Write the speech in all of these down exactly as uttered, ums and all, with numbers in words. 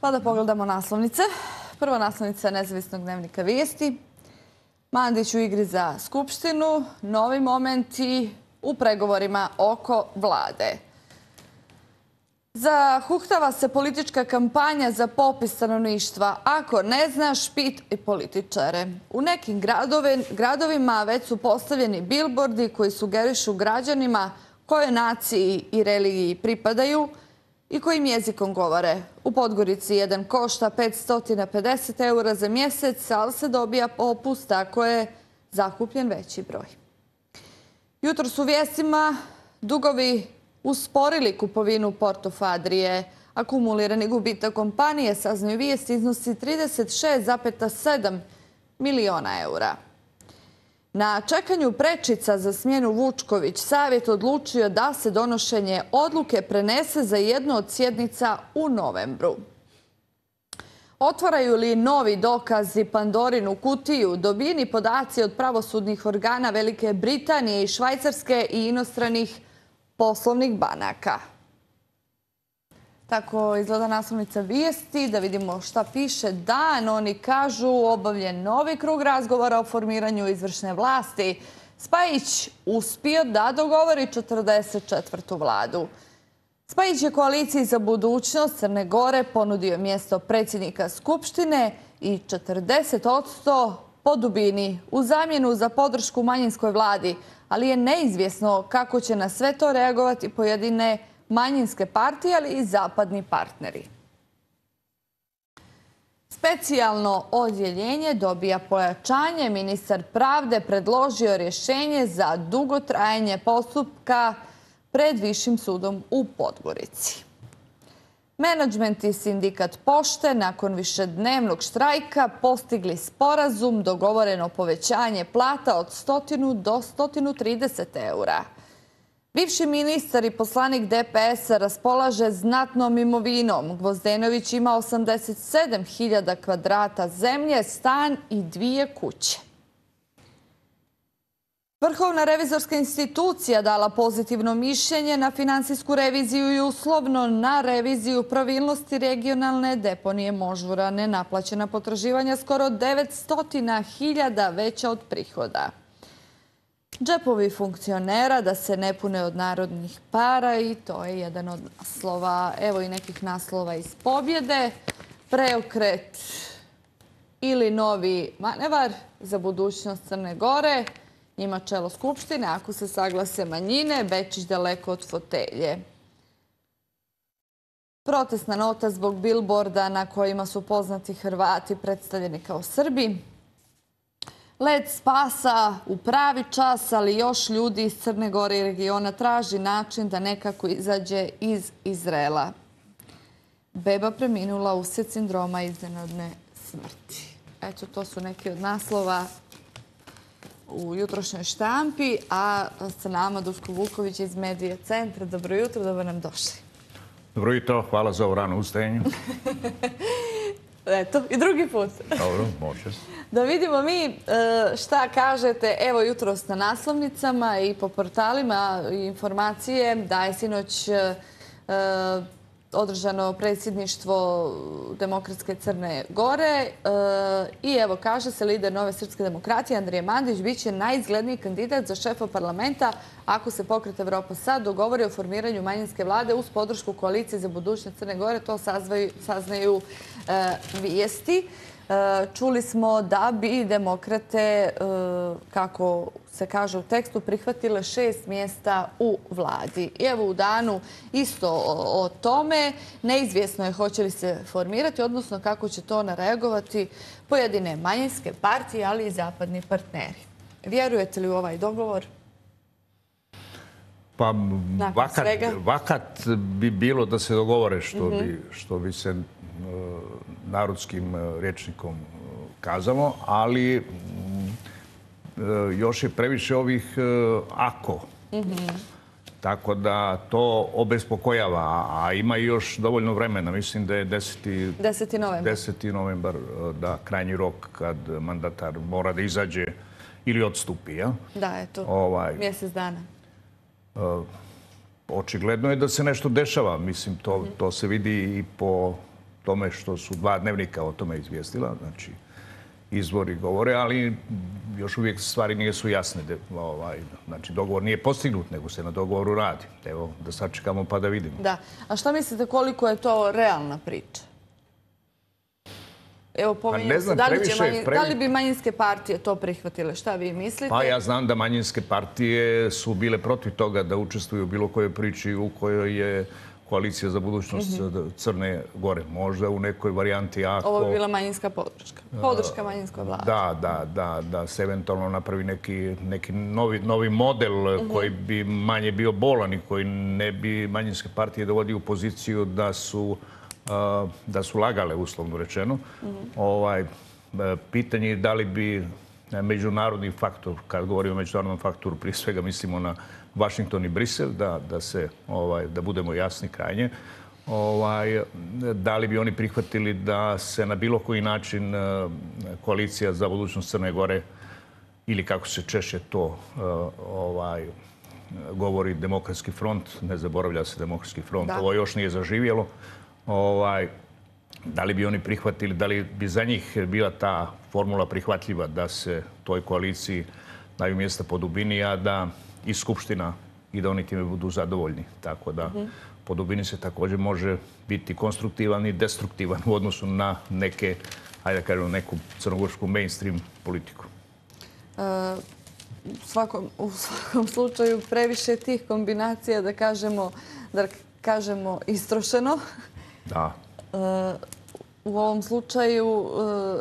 Pa da pogledamo naslovnice. Prva naslovnica Nezavisnog dnevnika Vijesti. Mandić u igri za Skupštinu, novi momenti u pregovorima oko vlade. Zahuktava se politička kampanja za popis stanovništva. Ako ne znaš, pitaj političare. U nekim gradovima već su postavljeni bilbordi koji sugerišu građanima kojoj naciji i religiji pripadaju i kojim jezikom govore. U Podgorici jedan košta petsto pedeset eura za mjesec, ali se dobija popust ako je zakupljen veći broj. Jutros u vijestima dugovi usporili kupovinu Portofo Adrije. Akumulirani gubitak kompanije, saznaju vijesti, iznosi trideset šest zarez sedam miliona eura. Na čekanju prečica za smjenu Vučković, savjet odlučio da se donošenje odluke prenese za jednu od sjednica u novembru. Otvaraju li novi dokazi Pandorinu kutiju, dobijeni podaci od pravosudnih organa Velike Britanije i Švajcarske i inostranih poslovnih banaka. Tako izgleda naslovnica vijesti. Da vidimo šta piše dan. Oni kažu obavljen novi krug razgovora o formiranju izvršne vlasti. Spajić uspio da dogovori četrdeset četvrtu vladu. Spajić je koaliciji za budućnost Crne Gore ponudio mjesto predsjednika Skupštine i četrdeset posto po dubini u zamjenu za podršku manjinskoj vladi, ali je neizvjesno kako će na sve to reagovati pojedine manjinske partije, ali i zapadni partneri. Specijalno odjeljenje dobija pojačanje. Ministar pravde predložio rješenje za dugotrajanje postupka pred Višim sudom u Podgorici. Menadžment i sindikat pošte nakon višednevnog štrajka postigli sporazum, dogovoreno povećanje plata od sto do sto trideset eura. Bivši ministar i poslanik D P S-a raspolaže znatnom imovinom. Gvozdenović ima osamdeset sedam hiljada kvadrata zemlje, stan i dvije kuće. Vrhovna revizorska institucija dala pozitivno mišljenje na finansijsku reviziju i uslovno na reviziju pravilnosti regionalne deponije Možura. Nenaplaćena potraživanja skoro devetsto hiljada veća od prihoda. Džepovi funkcionera da se ne pune od narodnih para i to je jedan od naslova. Evo i nekih naslova iz pobjede. Preokret ili novi manevar za budućnost Crne Gore. Njima čelo Skupštine, ako se saglase manjine, Bečić daleko od fotelje. Protestna nota zbog bilborda na kojima su poznati Hrvati predstavljeni kao Srbi. Led spasa u pravi čas, ali još ljudi iz Crne Gore i regiona traži način da nekako izađe iz Izraela. Beba preminula uslijed sindroma iznenadne smrti. Eto, to su neki od naslova u jutrošnjoj štampi, a sa nama Duško Vuković iz Medija centra. Dobro jutro, dobro nam došli. Dobro jutro, hvala za ovo rano ustajanje. Eto, i drugi put. Dobro, može. Da vidimo mi šta kažete, evo jutros na naslovnicama i po portalima informacije da je sinoć održano predsjedništvo Demokratske Crne Gore i evo kaže se lider Nove srpske demokratije Andrija Mandić bit će najizgledniji kandidat za šefa parlamenta ako se Pokret Evropa sad dogovori o formiranju manjinske vlade uz podršku koalicije za budućnost Crne Gore. To saznaju vijesti. Čuli smo da bi demokrate, kako se kaže u tekstu, prihvatile šest mjesta u vladi. I evo u danu isto o tome. Neizvjesno je hoće li se formirati, odnosno kako će to nareagovati pojedine manjinske partije, ali i zapadni partneri. Vjerujete li u ovaj dogovor? Pa vakat bi bilo da se dogovore što bi se narodskim rječnikom kazamo, ali još je previše ovih ako. Tako da to obespokojava, a ima i još dovoljno vremena. Mislim da je deseti novembar da krajnji rok kad mandatar mora da izađe ili odstupi. Da, eto, mjesec dana. Očigledno je da se nešto dešava. Mislim, to se vidi i po tome što su dva dnevnika o tome izvijestila, znači izvori govore, ali još uvijek stvari nisu jasne. Znači, dogovor nije postignut, nego se na dogovoru radi. Evo, da sačekamo pa da vidimo. Da. A šta mislite koliko je to realna priča? Evo, pominjem se, da li bi manjinske partije to prihvatile? Šta vi mislite? Pa ja znam da manjinske partije su bile protiv toga da učestvuju u bilo kojoj priči u kojoj je Koalicija za budućnost Crne Gore. Možda u nekoj varijanti ako... Ovo bi bila manjinska podrška. Podrška manjinskoj vladi. Da, da, da, da se eventualno napravi neki novi model koji bi manje bio bolan i koji ne bi manjinske partije dovodio u poziciju da su da su lagale, uslovno rečeno. Pitanje je da li bi međunarodni faktor, kad govorimo o međunarodnom faktoru, prije svega mislimo na Washington i Brisel, da budemo jasni krajnje, da li bi oni prihvatili da se na bilo koji način Koalicija za budućnost Crne Gore, ili kako se češće to govori, Demokratski front, ne zaboravlja se Demokratski front, ovo još nije zaživjelo, da li bi oni prihvatili, da li bi za njih bila ta formula prihvatljiva da se toj koaliciji daju mjesta po dubini, a da i Skupština i da oni time budu zadovoljni. Tako da po dubini se također može biti konstruktivan i destruktivan u odnosu na neke, hajde da kažem, neku crnogorsku mainstream politiku. U svakom slučaju previše tih kombinacija, da kažemo, da kažemo istrošeno. Da. U ovom slučaju,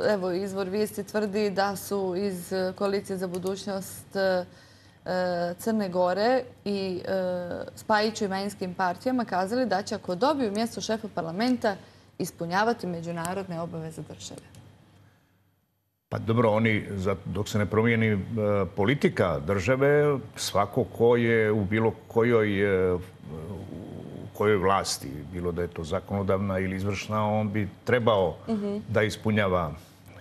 evo, izvor vijesti tvrdi da su iz Koalicije za budućnost Crne Gore i Spajiću i manjinskim partijama kazali da će, ako dobiju mjesto šefa parlamenta, ispunjavati međunarodne obaveze države. Pa dobro, oni, dok se ne promijeni politika države, svako ko je u bilo kojoj kojoj vlasti, bilo da je to zakonodavna ili izvršna, on bi trebao da ispunjava,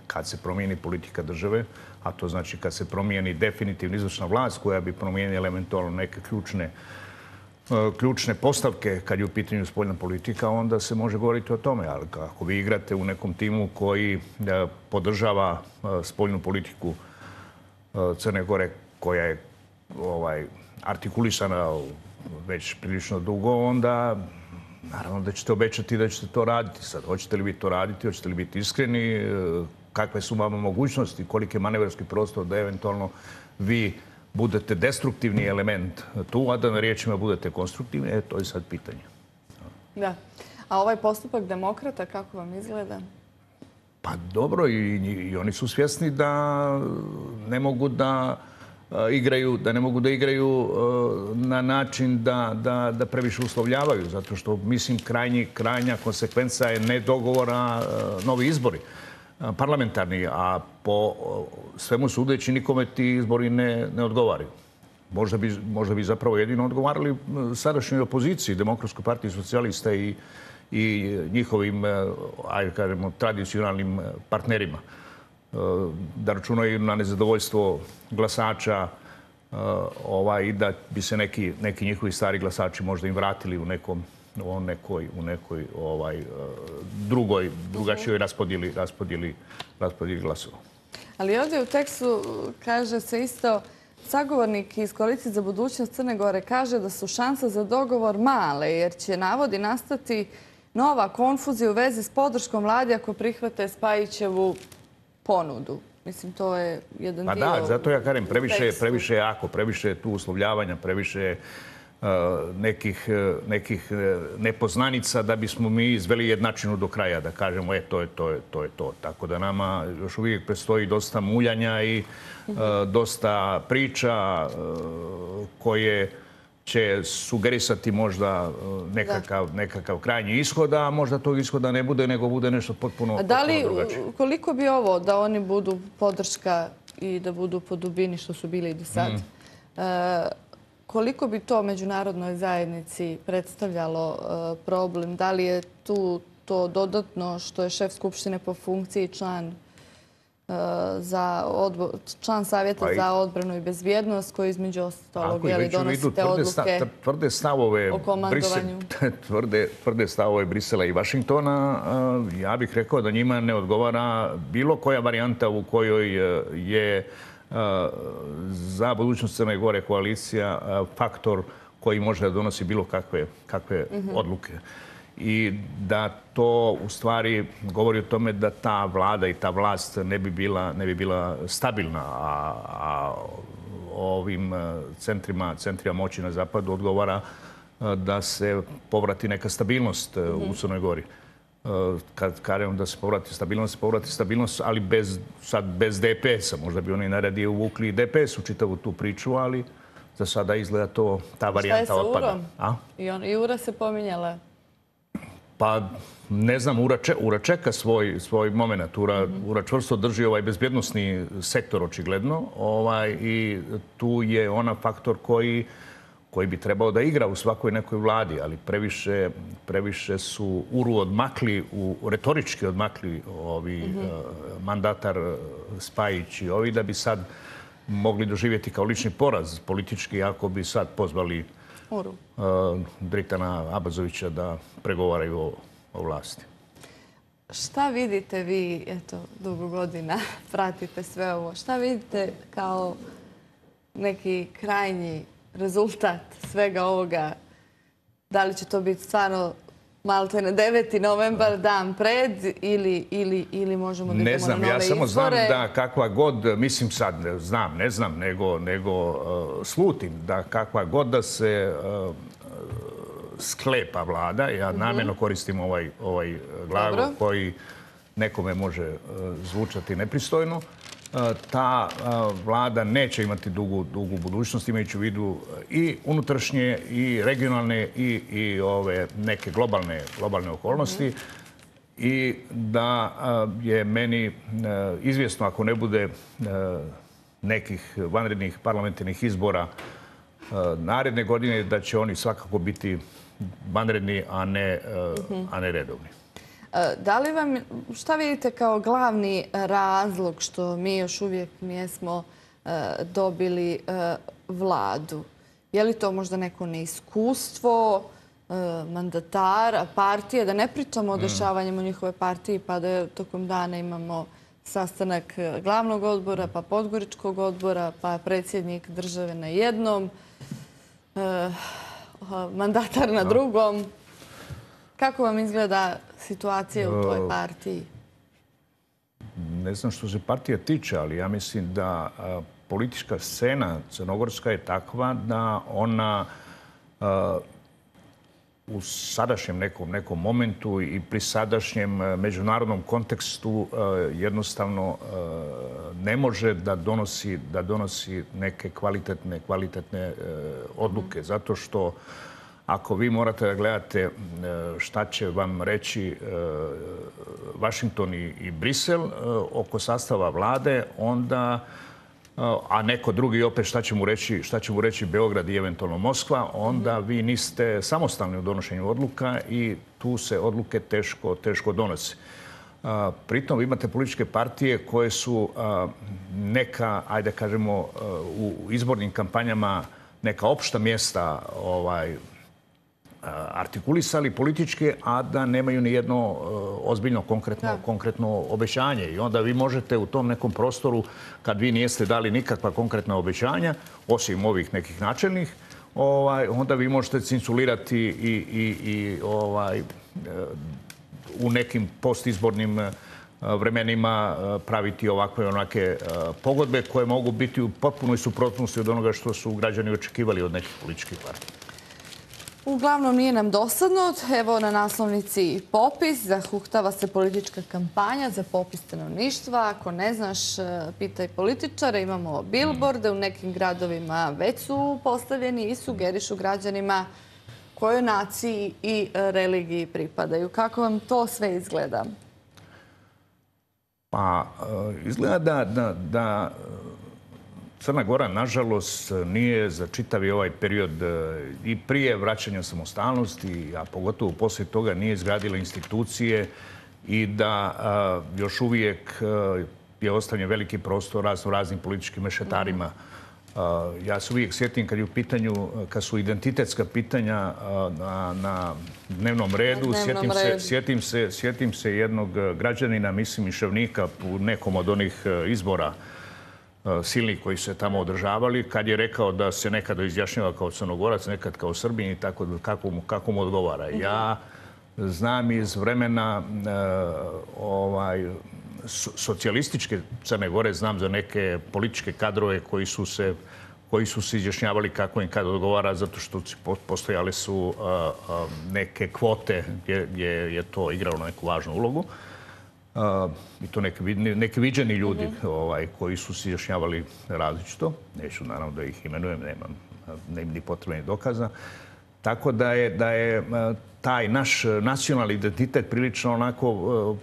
kad se promijeni politika države, a to znači kad se promijeni definitivno izvršna vlast koja bi promijenila eventualno neke ključne ključne postavke kad je u pitanju spoljna politika, onda se može govoriti o tome. Ali ako vi igrate u nekom timu koji podržava spoljnu politiku Crne Gore, koja je artikulisana već prilično dugo, onda naravno da ćete obećati da ćete to raditi. Sad, hoćete li vi to raditi, hoćete li biti iskreni, kakve su vama mogućnosti, koliki je manevarski prostor da eventualno vi budete destruktivni element tu, a da na riječima budete konstruktivni, e, to je sad pitanje. Da. A ovaj postupak demokrata, kako vam izgleda? Pa dobro, i oni su svjesni da ne mogu da igraju, da ne mogu da igraju na način da previše uslovljavaju, zato što, mislim, krajnja konsekvenca je ne dogovora novi izbori parlamentarni, a po svemu sudeći nikome ti izbori ne odgovaraju. Možda bi zapravo jedino odgovarali sadašnjoj opoziciji, Demokratskoj partiji socijalista i njihovim, ajde kažemo, tradicionalnim partnerima. Da računaju na nezadovoljstvo glasača i da bi se neki njihovi stari glasači možda im vratili u nekom u nekoj, u nekoj drugoj, drugačijoj raspodjeli glasova. Ali ovdje u tekstu kaže se isto, sagovornik iz Koalicije za budućnost Crne Gore kaže da su šanse za dogovor male, jer će, navodi, nastati nova konfuzija u vezi s podrškom vladi ako prihvate Spajićevu ponudu. Mislim, to je jedan dio... Pa da, zato ja kažem, previše je ako, previše je tu uslovljavanja, previše je nekih nepoznanica da bismo mi izveli jednačinu do kraja, da kažemo, e, to je to, to je to. Tako da nama još uvijek predstoji dosta muljanja i dosta priča koje će sugerisati možda nekakav krajnji ishod, a možda tog ishoda ne bude, nego bude nešto potpuno drugačije. Koliko bi ovo da oni budu podrška i da budu po dubini što su bili i do sad, koliko bi to međunarodnoj zajednici predstavljalo problem? Da li je tu to dodatno što je šef Skupštine po funkciji član član Savjeta za odbranu i bezbjednost, koji između ostalog donosite odluke tvrde stavove o komandovanju. Tvrde stavove Brisela i Vašingtona, ja bih rekao da njima ne odgovara bilo koja varijanta u kojoj je za budućnost Crne Gore koalicija faktor koji može da donosi bilo kakve odluke. I da to u stvari govori o tome da ta vlada i ta vlast ne bi bila, ne bi bila stabilna, a, a ovim centrima, centrima moći na zapadu odgovara da se povrati neka stabilnost mm-hmm. u Crnoj Gori. Kad kažem da se povrati stabilnost, povrati stabilnost, ali bez, sad bez D P S-a. Možda bi oni najradije uvukli D P S u čitavu tu priču, ali za sada izgleda to, ta varijanta otpada. Šta je sa Urom? I, on, I Ura se pominjala. Pa ne znam, Ura, če, Ura čeka svoj, svoj moment. Ura, mm-hmm. Ura čvrsto drži ovaj bezbjednosni sektor očigledno ovaj, i tu je ona faktor koji, koji bi trebao da igra u svakoj nekoj vladi, ali previše, previše su Uru odmakli, u, retorički odmakli ovi mm-hmm. uh, mandatar Spajić i ovi da bi sad mogli doživjeti kao lični poraz politički ako bi sad pozvali Uh, Dritana Abazovića da pregovaraju o, o vlasti. Šta vidite vi, eto, dugo godina pratite sve ovo, šta vidite kao neki krajnji rezultat svega ovoga? Da li će to biti stvarno malte na deveti novembar, dan pred, ili, ili, ili možemo da idemo na nove izbore? Ne znam, ja samo znam da kakva god, mislim sad, znam, ne znam, nego, nego uh, slutim da kakva god da se uh, sklepa vlada, ja mm-hmm. namjerno koristim ovaj, ovaj glagol Dobro. koji nekome može uh, zvučati nepristojno, ta vlada neće imati dugu, dugu budućnost, imajući u vidu i unutrašnje, i regionalne, i, i ove neke globalne, globalne okolnosti. Mm-hmm. I da je meni izvjesno, ako ne bude nekih vanrednih parlamentarnih izbora naredne godine, da će oni svakako biti vanredni, a ne, mm-hmm. a ne redovni. Da li vam, šta vidite kao glavni razlog što mi još uvijek nismo dobili vladu? Je li to možda neko neiskustvo, mandatara, partije? Da ne pričamo o dešavanjima u njihove partiji, pa da tokom dana imamo sastanak glavnog odbora, pa podgoričkog odbora, pa predsjednik države na jednom, mandatar na drugom. Kako vam izgleda situacija u toj partiji? Ne znam što se partija tiče, ali ja mislim da politička scena crnogorska je takva da ona u sadašnjem nekom, nekom momentu i pri sadašnjem međunarodnom kontekstu jednostavno ne može da donosi, da donosi neke kvalitetne, kvalitetne odluke. Zato što ako vi morate da gledate šta će vam reći Vašington i Brisel oko sastava vlade, onda, a neko drugi opet šta će mu reći, šta će mu reći Beograd i eventualno Moskva, onda vi niste samostalni u donošenju odluka i tu se odluke teško, teško donose. Pritom imate političke partije koje su neka, ajde kažemo, u izbornim kampanjama neka opšta mjesta ovaj, artikulisali politički, a da nemaju ni jedno ozbiljno konkretno, konkretno obećanje. I onda vi možete u tom nekom prostoru, kad vi nijeste dali nikakva konkretna obećanja, osim ovih nekih načelnih, ovaj, onda vi možete cinculirati i, i, i ovaj, u nekim postizbornim vremenima praviti ovakve onake pogodbe koje mogu biti u potpunoj suprotnosti od onoga što su građani očekivali od nekih političkih partija. Uglavnom nije nam dosadno. Evo na naslovnici popis. Zahuktava se politička kampanja za popis stanovništva. Ako ne znaš, pitaj političare. Imamo bilborde. U nekim gradovima već su postavljeni i sugerišu građanima kojoj naciji i religiji pripadaju. Kako vam to sve izgleda? Pa, izgleda da, da, da Crna Gora, nažalost, nije za čitavi ovaj period i prije vraćanja samostalnosti, a pogotovo poslije toga nije izgradila institucije i da a, još uvijek a, je ostavljen veliki prostor razno raznim političkim mešetarima. Ja se uvijek sjetim kad je u pitanju, kad su identitetska pitanja na, na dnevnom redu, na sjetim, dnevnom se, redu. sjetim, se, sjetim se jednog građanina, mislim i Ševnika, u nekom od onih izbora silnih koji su se tamo održavali, kad je rekao da se nekada izjašnjava kao Crnogorac, nekad kao Srbin i tako kako mu, kako mu odgovara. Ja znam iz vremena ovaj, socijalističke Crne Gore, znam za neke političke kadrove koji su se, koji su se izjašnjavali kako im kad odgovara, zato što postojale su neke kvote gdje, gdje je to igralo neku važnu ulogu. I to neki, neki viđeni ljudi ovaj, koji su se izjašnjavali različito. Neću naravno da ih imenujem, nemam, nemam ni potrebnih dokaza. Tako da je, da je taj naš nacionalni identitet prilično onako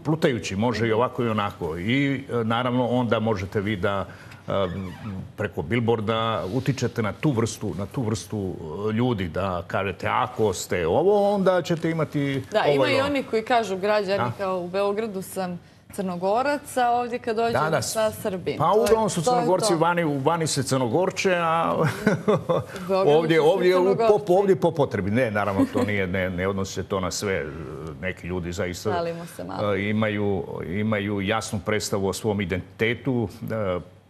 plutajući, može i ovako i onako. I naravno onda možete vi da preko bilborda utičete na tu vrstu, na tu vrstu ljudi, da kažete ako ste ovo, onda ćete imati da, ovo. Ima i oni koji kažu građani da. Kao u Beogradu sam Crnogorac, a ovdje kad dođem da, da. sa Srbim. Pa uglavnom su Crnogorci vani, vani se Crnogorče, a ovdje, ovdje, po, ovdje po potrebi. Ne, naravno, to nije, ne, ne odnosi se to na sve. Neki ljudi zaista imaju, imaju jasnu predstavu o svom identitetu.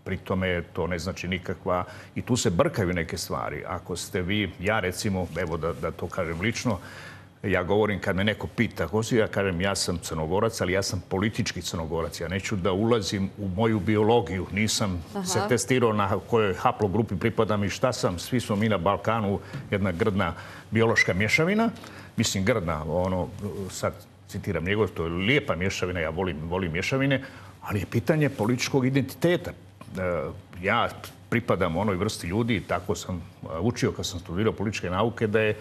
Pri tome to ne znači nikakva... I tu se brkaju neke stvari. Ako ste vi, ja recimo, evo da, da to kažem lično, ja govorim kad me neko pita, ko si, ja kažem ja sam Crnogorac, ali ja sam politički Crnogorac. Ja neću da ulazim u moju biologiju. Nisam Aha. se testirao na kojoj haplogrupi pripadam i šta sam. Svi smo mi na Balkanu jedna grdna biološka mješavina. Mislim grdna, ono, sad citiram njegov, to je lijepa mješavina, ja volim, volim mješavine, ali je pitanje političkog identiteta. Ja pripadam onoj vrsti ljudi i tako sam učio kad sam studirao političke nauke da je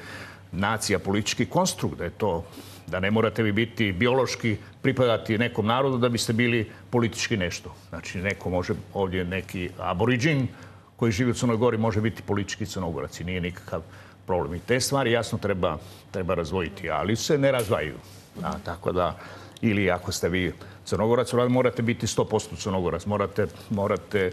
nacija politički konstrukt, da je to, da ne morate vi biti biološki pripadati nekom narodu da biste bili politički nešto. Znači neko može ovdje neki aboriđin koji živi u Crnoj Gori može biti politički Crnogorac i nije nikakav problem. I te stvari jasno treba, treba razvojiti, ali se ne razvajaju. A, tako da, ili ako ste vi Crnogorac, morate biti sto posto Crnogorac. Morate, morate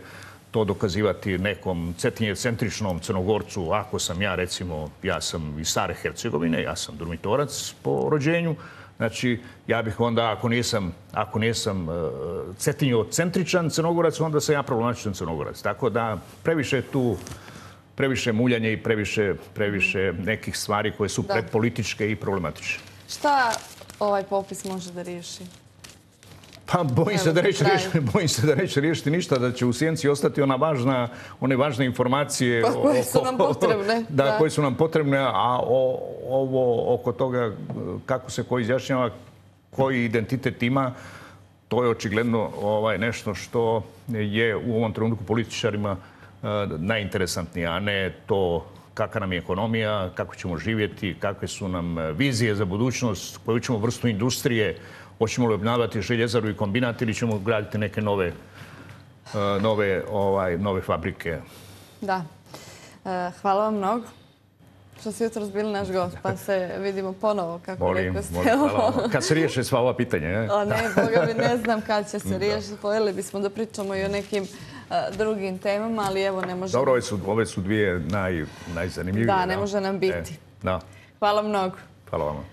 to dokazivati nekom cetinjecentričnom Crnogorcu. Ako sam ja, recimo, ja sam iz Stare Hercegovine, ja sam Drumitorac po rođenju. Znači, ja bih onda, ako nisam, ako nisam uh, cetinjocentričan Crnogorac, onda sam ja problematičan Crnogorac. Tako da, previše tu, previše muljanje i previše, previše nekih stvari koje su da. predpolitičke i problematične. Šta ovaj popis može da riješi? Pa bojim se da neće riješiti, bojim se da neće riješiti ništa, da će u sjenci ostati ona važna, one važne informacije pa, koje su nam potrebne. Da, da, koje su nam potrebne, a o, ovo oko toga kako se ko izjašnjava, koji identitet ima, to je očigledno ovaj, nešto što je u ovom trenutku političarima uh, najinteresantnije, a ne to kakva nam je ekonomija, kako ćemo živjeti, kakve su nam vizije za budućnost, koju ćemo vrstu industrije, hoćemo li obnavljati željezaru i kombinat ili ćemo graditi neke nove, nove, ovaj, nove fabrike. Da. Hvala vam mnogo što ste jutros bili naš gost, pa se vidimo ponovo, kako rekao ste. Kad se riješe sva ova pitanja, ne? O ne, Boga mi ne znam kad će se riješiti. Pojeli bismo da pričamo i o nekim drugim temama, ali evo ne može... Dobro, ove su, ove su dvije naj, najzanimljivije. Da, ne može nam biti. E, da. Hvala mnogo. Hvala vam.